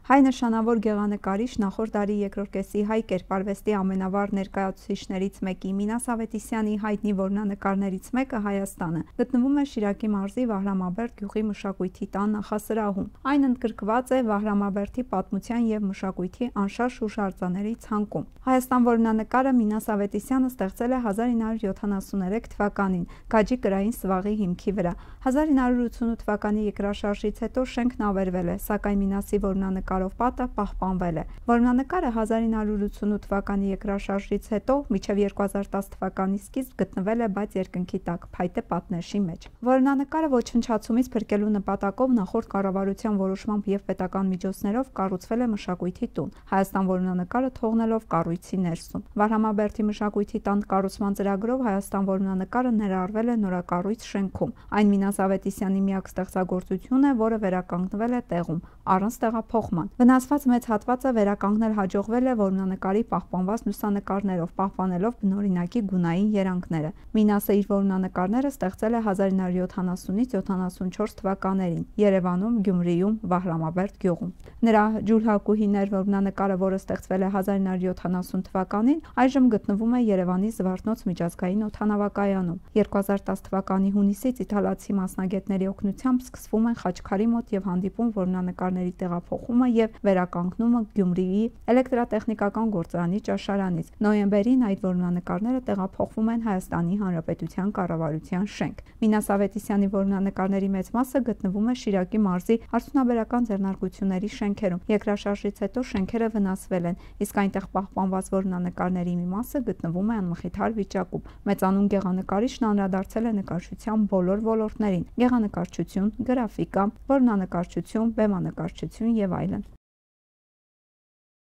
Հայ նշանավոր գեղանկարիչ, նախորդ դարի երկրորդ կեսի հայ կերպարվեստի ամենավառ ներկայացուցիչներից մեկի Մինաս Ավետիսյանի հայտնի որմնանկարներից մեկը Հայաստանը գտնվում է Շիրակի մարզի Վահրամաբերդ գյուղի մշակույթի տան նախասրահում։ Այն ընդգրկված է Վահրամաբերդի պատմության և մշակույթի անշարժ հուշարձանների ցանկում։ Հայաստան որմնանկարը Մինաս Ավետիսյանը ստեղծել է 1973 թվականին Գաջի կրային սվաղի հիմքի վրա։ 1988 թվականի երկրաշարժից հետո շենքն ավերվել է, սակայն Մինասի որմնանկարով պատը պահպանվել է։ Որմնանկարը 1988 թվականի երկրաշարժից հետո մինչև 2010 թվականի սկիզբ գտնվել է բաց երկնքի տակ, փայտե պատնեշի մեջ։ Որմնանկարը ոչնչացումից փրկելու նպատակով նախորդ կառավարության որոշմամբ և պետական միջոցներով կառուցվել է մշակույթի տուն, Հայաստան որմնանկարը թողնելով կառույցի ներսում։ Վահրամաբերդի մշակույթի տան կառուցման ծրագրով Հայաստան որմնանկարը ներառվել է նորակառույց շենքում։ Այն Մինաս Ավետիսյանի միակ ստեղծագործությունն է, որը վերականգնվել է տեղում, առանց տեղափոխման։ Վնասված մեծ հատվածը վերականգնել հաջողվել է որմնանկարի պահպանված լուսանկարներով, պահպանելով բնօրինակի գունային երանգները։ Մինասը իր որմնանկարները ստեղծել է 1970-ից 74 թվականներին Երևանում, Գյումրիում, Վահրամաբերդ գյուղում։ Նրա ջուլհակուհիներ որմնանկարը, որը ստեղծվել է 1970 թվականին, այժմ գտնվում է Երևանի Զվարթնոց միջազգային օդանավակայանում։ 2010 թվականի հունիսից իտալացի մասնագետների օգնությամբ սկսվում են Խաչքարի մոտ և հանդիպում որմնանկարների տեղափոխումը և վերականգնումը Գյումրիի էլեկտրատեխնիկական գործարանի ճաշարանից։ Նոյեմբերին այդ որմնանկարները տեղափոխվում են Հայաստանի Հանրապետության կառավարության շենք։ Մինաս Ավետիսյանի որմնանկարների մեծ մասը գտնվում է Շիրակի մարզի արդյունաբերական ձեռնարկությունների շենքերում։ Երկրաշարժից հետո շենքերը վնասվել են, իսկ այնտեղ պահպանված որմնանկարների մի մասը գտնվում է անմխիթար վիճակում։ Մեծանուն գեղանկարիչն անդրադարձել է նկարչության բոլոր ոլորտներին՝ գեղանկարչություն, գրաֆիկա, որմնանկարչություն, բեմանկարչություն և այլն։